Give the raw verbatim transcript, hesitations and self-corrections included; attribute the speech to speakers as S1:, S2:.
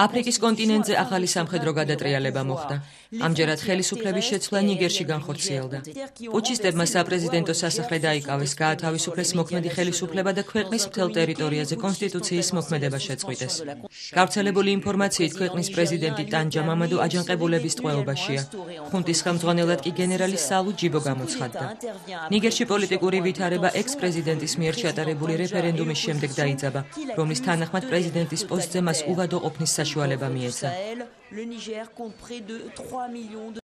S1: აფრიკის კონტინენტზე ახალი სამხედრო გადატრიალება მოხდა. ამჯერად ხელისუფლების შეცვლა ნიგერში განხორციელდა. პუჩისტებმა საპრეზიდენტო სასახლე დაიკავეს, გაათავისუფლეს მოქმედი ხელისუფლება და ქვეყნის მთელ ტერიტორიაზე კონსტიტუციის მოქმედება შეწყვიტეს. გავრცელებული ინფორმაციით ქვეყნის პრეზიდენტი ტანჯა მამადუ აჯანყებულების ტყვეობაშია. ხუნტის ხელმძღვანელად კი გენერალი სალუ ჯიბო გამოცხადდა. ნიგერში პოლიტიკური ვითარება ექს-პრეზიდენტის მიერ ჩატარებული რეფერენდუმის შემდეგ დაიძაბა, რომლის თანახმად პრეზიდენტის პოსტზე მას უვადო ყოფნის საშუალება მიეცა.